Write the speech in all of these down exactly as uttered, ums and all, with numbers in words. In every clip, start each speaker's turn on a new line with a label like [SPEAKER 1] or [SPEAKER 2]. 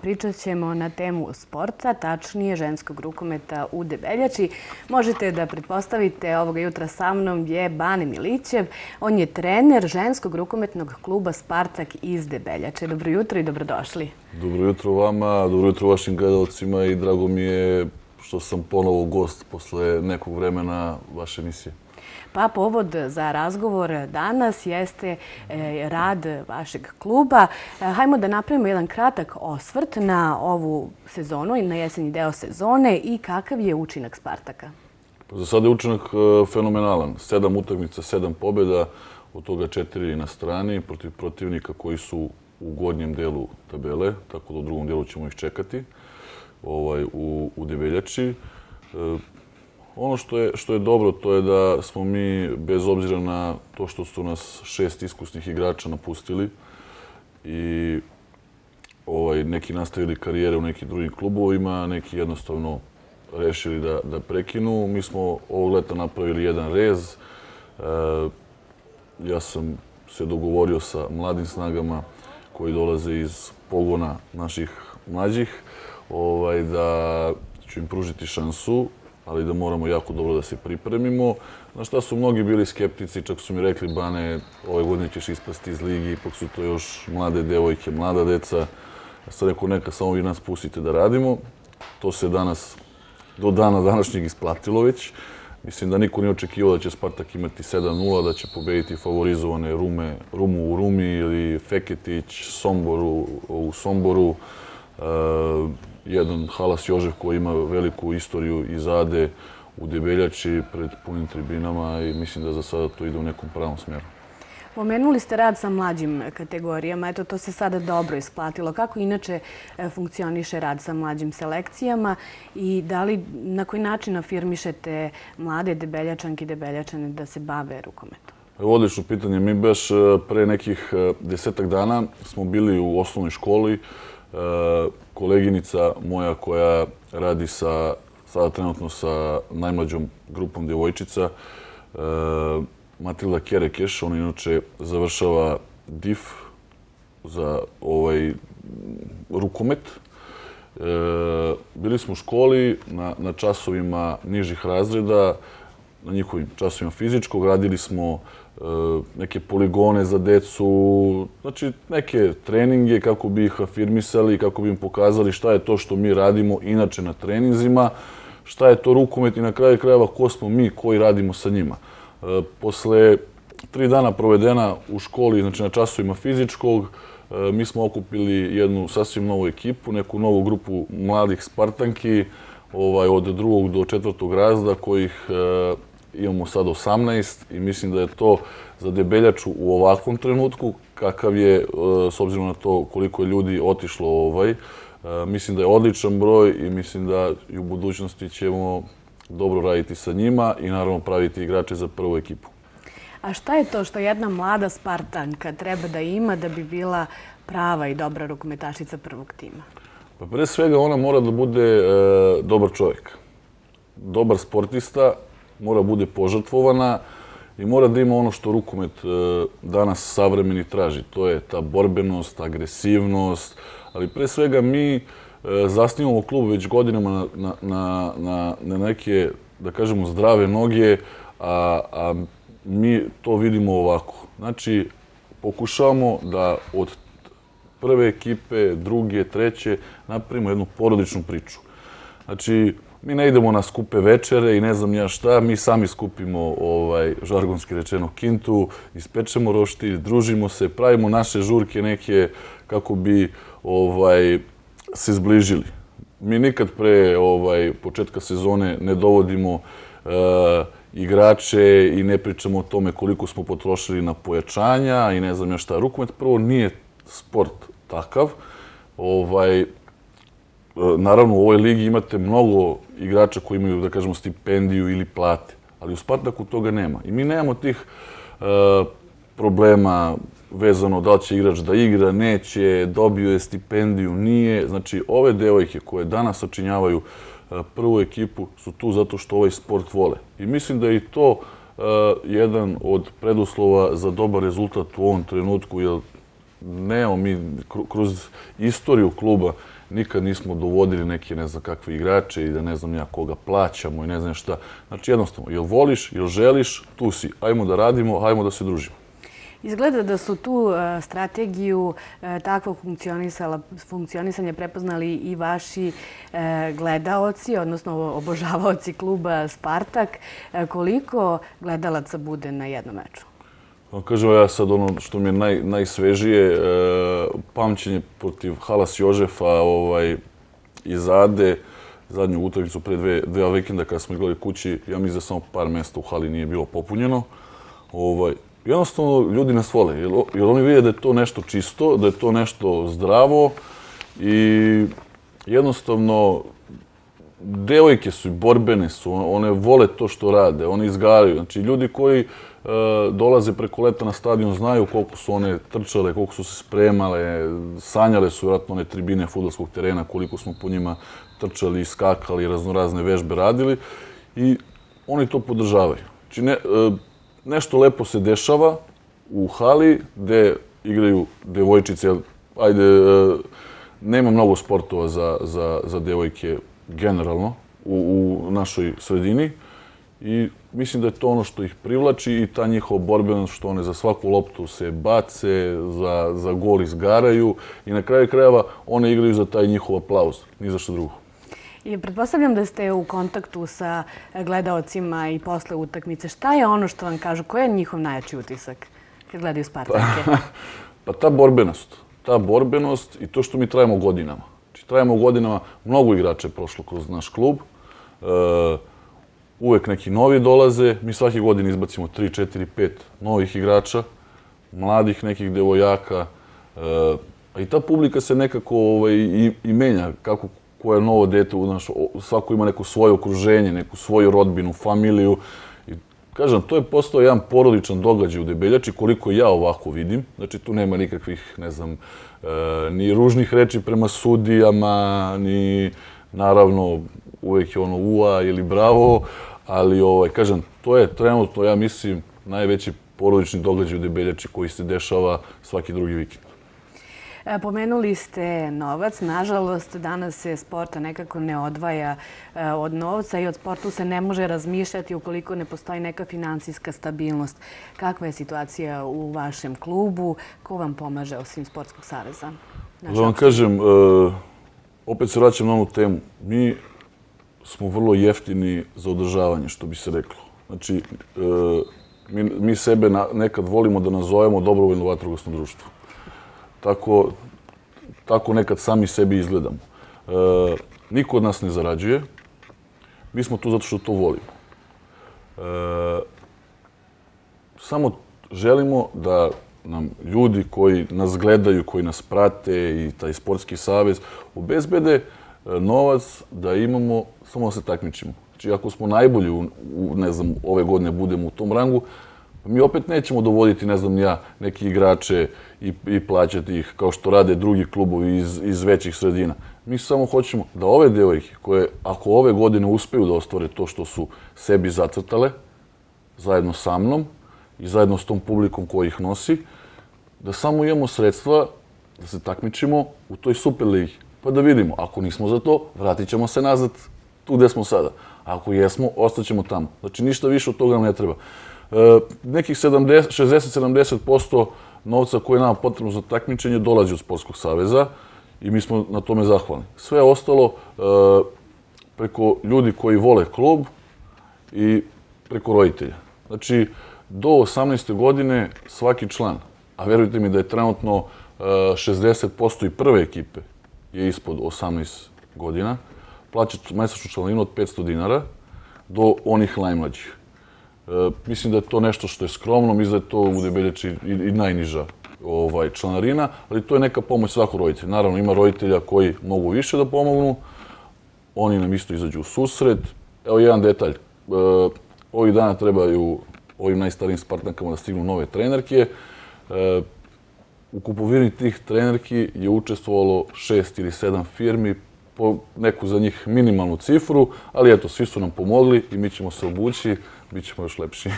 [SPEAKER 1] pričat ćemo na temu sporta, tačnije ženskog rukometa u Debeljači. Možete da pretpostavite, ovoga jutra sa mnom je Bane Milićev. On je trener ženskog rukometnog kluba Spartak iz Debeljače. Dobro jutro i dobrodošli.
[SPEAKER 2] Dobro jutro vama, dobro jutro vašim gledalcima i drago mi je što sam ponovo gost posle nekog vremena vaše emisije.
[SPEAKER 1] Pa povod za razgovor danas jeste rad vašeg kluba. Hajmo da napravimo jedan kratak osvrt na ovu sezonu i na jesenji deo sezone i kakav je učinak Spartaka.
[SPEAKER 2] Za sada je učinak fenomenalan. Sedam utakmica, sedam pobjeda, od toga četiri na strani protiv protivnika koji su u gornjem delu tabele, tako da u drugom delu ćemo ih čekati u Debeljači. Ono što je, što je dobro, to je da smo mi, bez obzira na to što su nas šest iskusnih igrača napustili i ovaj, neki nastavili karijere u nekim drugim klubovima, neki jednostavno rešili da, da prekinu. Mi smo ovog leta napravili jedan rez. E, ja sam se dogovorio sa mladim snagama koji dolaze iz pogona naših mlađih, ovaj, da ću im pružiti šansu, ali da moramo jako dobro da se pripremimo. Na šta su mnogi bili skeptici, čak su mi rekli, Bane, ove godine ćeš ispasti iz ligi, ipak su to još mlade devojke, mlada deca. Ja sam rekao, neka samo vi nas pustite da radimo. To se danas, do dana današnjeg isplatilo već. Mislim da niko nije očekivao da će Spartak imati sedam nula, da će pobediti favorizovane Rume, Rumu u Rumi ili Feketić, Somboru u Somboru. Uh, jedan Halas Jožef koji ima veliku istoriju iz Ade u Debeljači pred punim tribinama i mislim da za sada to ide u nekom pravom smjeru.
[SPEAKER 1] Pomenuli ste rad sa mlađim kategorijama, eto to se sada dobro isplatilo. Kako inače funkcioniše rad sa mlađim selekcijama i da li, na koji način afirmišete mlade Debeljačanke i Debeljačane da se bave rukometom?
[SPEAKER 2] Odlično pitanje. Mi baš pre nekih desetak dana smo bili u osnovnoj školi. Koleginica moja koja radi sa, sada trenutno sa najmlađom grupom djevojčica, Matilda Kerekeš, ona inače završava D I F za ovaj rukomet. Bili smo u školi na, na časovima nižih razreda, na njihovim časovima fizičkog, radili smo neke poligone za decu, znači neke treninge kako bi ih afirmisali, kako bi im pokazali šta je to što mi radimo inače na treninzima, šta je to rukomet i na kraju krajeva ko smo mi koji radimo sa njima. Posle tri dana provedena u školi, znači na časovima fizičkog, mi smo okupili jednu sasvim novu ekipu, neku novu grupu mladih Spartanki, ovaj, od drugog do četvrtog razreda kojih imamo sad osamnaest i mislim da je to za Debeljaču u ovakvom trenutku, kakav je, s obzirom na to koliko je ljudi otišlo, ovaj, mislim da je odličan broj i mislim da i u budućnosti ćemo dobro raditi sa njima i naravno praviti igrače za prvu ekipu.
[SPEAKER 1] A šta je to što jedna mlada Spartanka treba da ima da bi bila prava i dobra rukometašica prvog tima?
[SPEAKER 2] Pa pre svega ona mora da bude e, dobar čovjek, dobar sportista, mora bude požrtvovana i mora da ima ono što rukomet danas savremeni traži. To je ta borbenost, agresivnost, ali pre svega mi zasnivamo klub već godinama na, na, na, na neke, da kažemo, zdrave noge, a, a mi to vidimo ovako. Znači, pokušavamo da od prve ekipe, druge, treće, napravimo jednu porodičnu priču. Znači, mi ne idemo na skupe večere i ne znam ja šta, mi sami skupimo, ovaj, žargonski rečeno, kintu, ispečemo roštilj, družimo se, pravimo naše žurke neke kako bi ovaj, se zbližili. Mi nikad pre ovaj, početka sezone ne dovodimo uh, igrače i ne pričamo o tome koliko smo potrošili na pojačanja i ne znam ja šta. Rukomet prvo nije sport takav. Ovaj, Naravno, u ovoj ligi imate mnogo igrača koji imaju, da kažemo, stipendiju ili plate, ali u Spartaku toga nema. I mi nemamo tih uh, problema vezano da li će igrač da igra, neće, dobio je stipendiju, nije. Znači, ove devojke koje danas sačinjavaju uh, prvu ekipu su tu zato što ovaj sport vole. I mislim da je i to uh, jedan od preduslova za dobar rezultat u ovom trenutku, jer nemamo mi kroz istoriju kluba nikad nismo dovodili neke ne znam kakve igrače i da ne znam ja koga plaćamo i ne znam šta. Znači jednostavno, jel voliš, jel želiš, tu si, ajmo da radimo, ajmo da se družimo.
[SPEAKER 1] Izgleda da su tu strategiju takvog funkcionisanja prepoznali i vaši gledaoci, odnosno obožavaoci kluba Spartak. Koliko gledalaca bude na jednom meču?
[SPEAKER 2] Kažem ja sad ono što mi je naj, najsvežije, pamćenje protiv Halas Jožefa iz Ade, zadnju utakmicu pre dve, dve vikenda kada smo igrali kući, ja mislim da samo par mjesta u hali nije bilo popunjeno. Ovaj, jednostavno ljudi nas vole, jer, jer oni vide da je to nešto čisto, da je to nešto zdravo i jednostavno devojke su i borbene su, one vole to što rade, one izgaraju. Znači ljudi koji e, dolaze preko leta na stadion znaju koliko su one trčale, koliko su se spremale, sanjale su vjerojatno one tribine fudbalskog terena, koliko smo po njima trčali, skakali, raznorazne vežbe radili i oni to podržavaju. Znači ne, e, nešto lepo se dešava u hali gde igraju devojčice, ajde, e, nema mnogo sportova za, za, za devojke generalno u, u našoj sredini i mislim da je to ono što ih privlači i ta njihova borbenost što one za svaku loptu se bace, za, za gol izgaraju i na kraju krajeva one igraju za taj njihov aplauz, ni za što drugo.
[SPEAKER 1] I pretpostavljam da ste u kontaktu sa gledaocima i posle utakmice. Šta je ono što vam kažu? Koji je njihov najjači utisak kad gledaju Spartake?
[SPEAKER 2] Pa, pa ta borbenost. Ta borbenost i to što mi trajemo godinama. Znači, trajemo godinama, mnogo igrača je prošlo kroz naš klub. E, uvek neki novi dolaze. Mi svake godine izbacimo tri, četiri, pet novih igrača, mladih nekih devojaka. E, a i ta publika se nekako ovaj, i, i menja. Kako koje novo dete, znaš, svako ima neko svoje okruženje, neku svoju rodbinu, familiju. I, kažem, to je postao jedan porodičan događaj u Debeljači, koliko ja ovako vidim. Znači, tu nema nikakvih, ne znam, e, ni ružnih reči prema sudijama, ni, naravno, uvek je ono ua ili bravo, ali, ovaj, kažem, to je trenutno, ja mislim, najveći porodični događaj u Debeljači koji se dešava svaki drugi vikend.
[SPEAKER 1] Pomenuli ste novac. Nažalost, danas se sporta nekako ne odvaja od novca i od sportu se ne može razmišljati ukoliko ne postoji neka finansijska stabilnost. Kakva je situacija u vašem klubu? Ko vam pomaže osim Sportskog saveza?
[SPEAKER 2] Da vam kažem, opet se vraćam na onu temu. Mi smo vrlo jeftini za održavanje, što bi se reklo. Znači, mi, mi sebe nekad volimo da nazovemo dobrovoljno vatrogasno društvo. Tako, tako nekad sami sebi izgledamo. E, niko od nas ne zarađuje. Mi smo tu zato što to volimo. E, samo želimo da nam ljudi koji nas gledaju, koji nas prate i taj sportski savez obezbede novac da imamo, samo da se takmičimo. Znači, ako smo najbolji, u, u, ne znam, ove godine budemo u tom rangu, mi opet nećemo dovoditi, ne znam ja, neki igrače i, i plaćati ih kao što rade drugi klubovi iz, iz većih sredina. Mi samo hoćemo da ove devojke koje, ako ove godine uspeju da ostvare to što su sebi zacrtale, zajedno sa mnom i zajedno s tom publikom koja ih nosi, da samo imamo sredstva da se takmičimo u toj Superligi. Pa da vidimo, ako nismo za to, vratit ćemo se nazad tu gde smo sada. Ako jesmo, ostaćemo tamo. Znači, ništa više od toga nam ne treba. E, nekih šezdeset do sedamdeset posto novca koje je nama potrebno za takmičenje dolazi od Sportskog saveza i mi smo na tome zahvalni. Sve ostalo e, preko ljudi koji vole klub i preko roditelja. Znači, do osamnaeste godine svaki član, a verujte mi da je trenutno e, šezdeset posto i prve ekipe je ispod osamnaest godina, plaća mesečnu članarinu od petsto dinara do onih najmlađih. E, mislim da je to nešto što je skromno, mislim da je to u Debeljači i, i najniža ovaj, članarina, ali to je neka pomoć svakog roditelja. Naravno, ima roditelja koji mogu više da pomognu, oni nam isto izađu u susret. Evo jedan detalj, e, ovih dana trebaju ovim najstarijim Spartankama da stignu nove trenerke. E, u kupovini tih trenerki je učestvovalo šest ili sedam firmi, po neku za njih minimalnu cifru, ali eto, svi su nam pomogli i mi ćemo se obući, bit ćemo još lepši.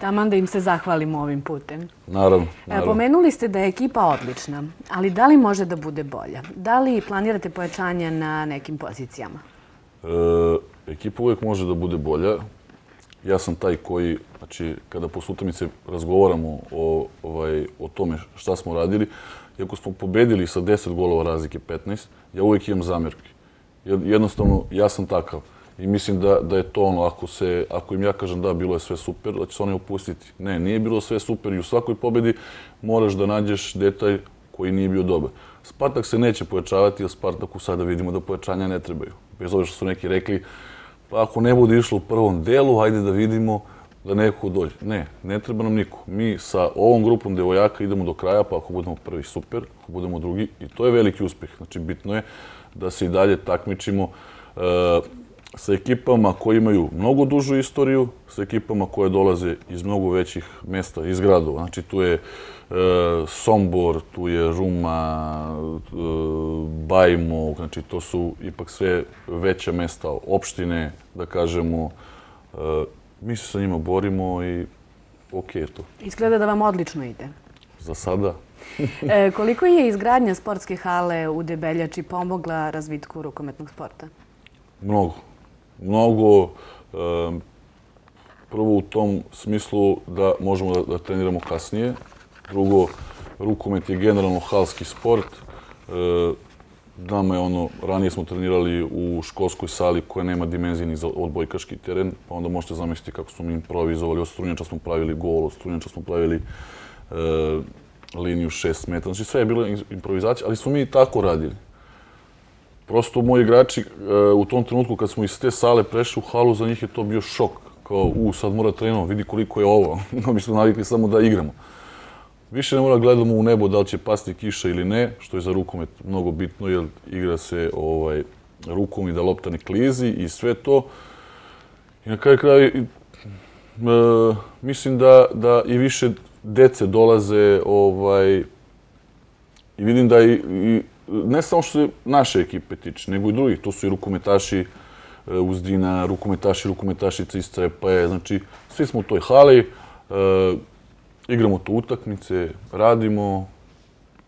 [SPEAKER 1] Taman da im se zahvalimo ovim putem.
[SPEAKER 2] Naravno, naravno.
[SPEAKER 1] Pomenuli ste da je ekipa odlična, ali da li može da bude bolja? Da li planirate pojačanje na nekim pozicijama?
[SPEAKER 2] E, ekipa uvijek može da bude bolja. Ja sam taj koji, znači, kada posle utakmice razgovaramo o, ovaj, o tome šta smo radili, iako smo pobedili sa deset golova razlike petnaest, ja uvijek imam zamjerke. Jednostavno, ja sam takav. I mislim da, da je to ono, ako, se, ako im ja kažem da, bilo je sve super, da će se oni opustiti. Ne, nije bilo sve super i u svakoj pobedi moraš da nađeš detalj koji nije bio dobar. Spartak se neće pojačavati, jer Spartaku sada vidimo da pojačanja ne trebaju. Bez obzira što su neki rekli, pa ako ne bude išlo u prvom delu, hajde da vidimo da neko dođe. Ne, ne treba nam niko. Mi sa ovom grupom devojaka idemo do kraja, pa ako budemo prvi, super, ako budemo drugi, i to je veliki uspjeh. Znači, bitno je da se i dalje takmičimo uh, sa ekipama koji imaju mnogo dužu istoriju, sa ekipama koje dolaze iz mnogo većih mesta, iz gradova. Znači, tu je uh, Sombor, tu je Ruma, uh, Bajmok, znači to su ipak sve veća mesta, opštine, da kažemo. Uh, mi se sa njima borimo i ok je to.
[SPEAKER 1] Izgleda da vam odlično ide.
[SPEAKER 2] Za sada.
[SPEAKER 1] e, koliko je izgradnja sportske hale u Debeljači pomogla razvitku rukometnog sporta?
[SPEAKER 2] Mnogo. Mnogo. Um, prvo u tom smislu da možemo da, da treniramo kasnije. Drugo, rukomet je generalno halski sport. E, nama je ono, ranije smo trenirali u školskoj sali koja nema dimenzije ni za odbojkaški teren, pa onda možete zamisliti kako smo mi improvizovali. Od strunjača smo pravili gol, od strunjača smo pravili e, liniju šest metara. Znači sve je bilo improvizacija, ali smo mi tako radili. Prosto moji igrači e, u tom trenutku kad smo iz te sale prešli u halu, za njih je to bio šok. Kao, u, sad mora treniramo, vidi koliko je ovo. Mi smo navikli samo da igramo. Više ne mora gledamo u nebo da li će pasti kiša ili ne, što je za rukomet mnogo bitno, jer igra se ovaj, rukom i da lopta ne klizi i sve to. I na kraju kraja, e, mislim da, da i više dece dolaze ovaj, i vidim da i, i ne samo što se naše ekipe tiče, nego i drugih. To su i rukometaši Uzdina, rukometaši, rukometašice iz Crepaje. Znači, svi smo u toj hali, e, igramo tu utakmice, radimo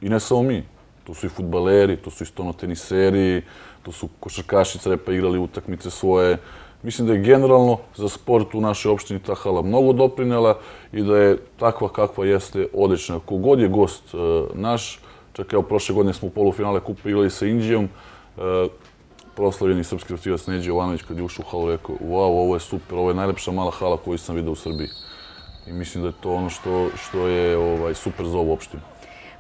[SPEAKER 2] i ne samo mi. To su i fudbaleri, to su i stonoteniseri, to su košarkaši Crepa igrali utakmice svoje. Mislim da je generalno za sport u našoj opštini ta hala mnogo doprinela i da je takva kakva jeste odlična. Kogod je gost e, naš, čak evo prošle godine smo u polufinale kupa igrali sa Indijom, e, proslavljeni srpski reprezentativac Neđe Jovanović kad je ušao u halu rekao wow, ovo je super, ovo je najlepša mala hala koju sam vidio u Srbiji. I mislim da je to ono što, što je ovaj, super za ovu opštinu.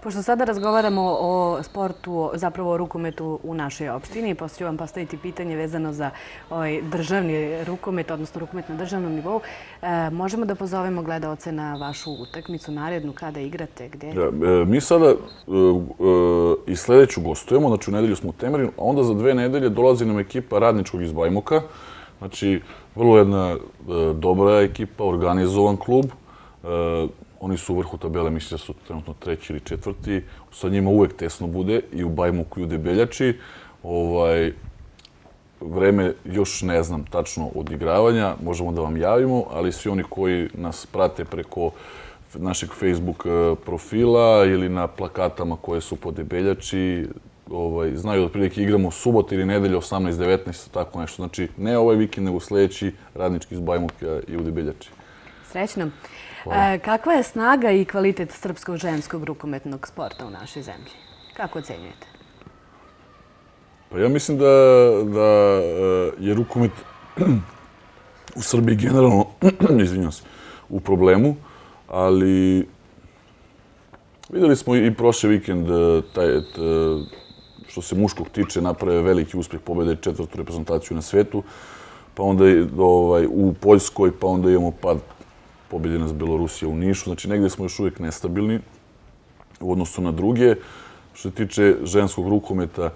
[SPEAKER 1] Pošto sada razgovaramo o sportu, zapravo o rukometu u našoj opštini, poslije ću vam postaviti pitanje vezano za ovaj državni rukomet, odnosno rukomet na državnom nivou. E, možemo da pozovemo gledaoce na vašu utakmicu narednu, kada igrate, gdje?
[SPEAKER 2] Ja, e, mi sada e, e, i sljedeću gostujemo, znači u nedelju smo u Temerinu, a onda za dve nedelje dolazi nam ekipa Radničkog iz Bajmoka. Znači, vrlo jedna e, dobra ekipa, organizovan klub. E, Oni su u vrhu tabele, mislim da su trenutno treći ili četvrti. Sa njima uvek tesno bude i u Bajmoku i u Debeljači. Ovaj, vreme još ne znam tačno odigravanja, možemo da vam javimo, ali svi oni koji nas prate preko našeg Facebook profila ili na plakatama koje su po Debeljači, ovaj, znaju da otprilike igramo subota ili nedelje osamnaest devetnaest, tako nešto. Znači, ne ovaj vikend, nego sljedeći Radnički iz Bajmoka i u Debeljači.
[SPEAKER 1] Srećno. E, kakva je snaga i kvalitet srpskog ženskog rukometnog sporta u našoj zemlji? Kako ocenjujete?
[SPEAKER 2] Pa ja mislim da, da je rukomet u Srbiji generalno, izvinjam se, u problemu, ali vidjeli smo i prošli vikend taj, što se muškog tiče, naprave veliki uspjeh, pobede četvrtu reprezentaciju na svetu, pa onda ovaj, u Poljskoj, pa onda imamo pad, pobjedi nas Belorusija u Nišu. Znači, negdje smo još uvijek nestabilni u odnosu na druge. Što se tiče ženskog rukometa,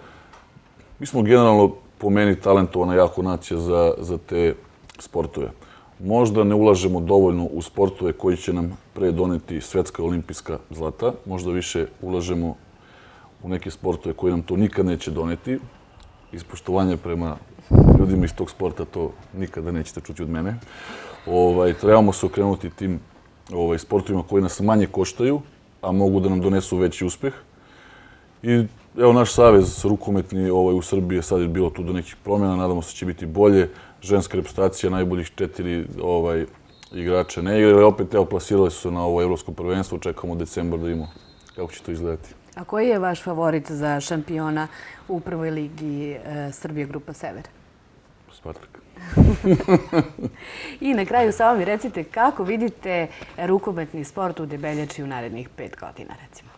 [SPEAKER 2] mi smo generalno po meni talentovana jako nacija za, za te sportove. Možda ne ulažemo dovoljno u sportove koji će nam pre doneti svetska olimpijska zlata. Možda više ulažemo u neke sportove koji nam to nikad neće doneti. ispoštovanje prema ljudima iz tog sporta, to nikada nećete čuti od mene. Ovaj, trebamo se okrenuti tim ovaj, sportovima koji nas manje koštaju, a mogu da nam donesu veći uspeh. I evo, naš savez rukometni ovaj, u Srbiji je sad bilo tu do nekih promjena, nadamo se da će biti bolje. Ženska reprezentacija, najboljih četiri ovaj, igrača ne igra, ali opet evo, plasirali su se na ovo evropsko prvenstvo, čekamo decembar da vidimo kako će to izgledati.
[SPEAKER 1] A koji je vaš favorit za šampiona u prvoj ligi e, Srbije Grupa Sever?
[SPEAKER 2] Spartak.
[SPEAKER 1] I na kraju samo mi recite kako vidite rukometni sport u Debeljači u narednih pet godina, recimo?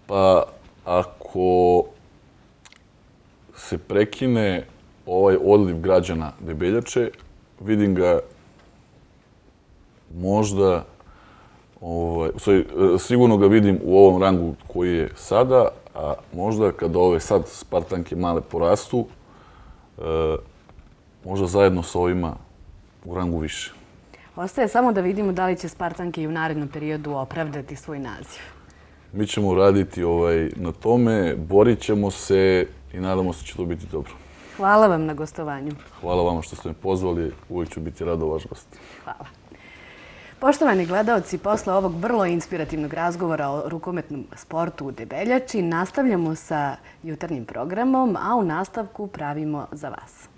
[SPEAKER 2] Pa, ako se prekine ovaj odliv građana Debeljače, vidim ga možda, ovaj, sigurno ga vidim u ovom rangu koji je sada, a možda kada ove sad Spartanke male porastu, e, možda zajedno s ovima u rangu više.
[SPEAKER 1] Ostaje samo da vidimo da li će Spartanke i u narednom periodu opravdati svoj naziv.
[SPEAKER 2] Mi ćemo raditi ovaj, na tome, borit ćemo se i nadamo se da će to biti dobro.
[SPEAKER 1] Hvala vam na gostovanju.
[SPEAKER 2] Hvala vama što ste me pozvali. Uvijek ću biti rado vaš gost.
[SPEAKER 1] Hvala. Poštovani gledaoci, posle ovog vrlo inspirativnog razgovora o rukometnom sportu u Debeljači nastavljamo sa jutarnjim programom, a u nastavku pravimo za vas.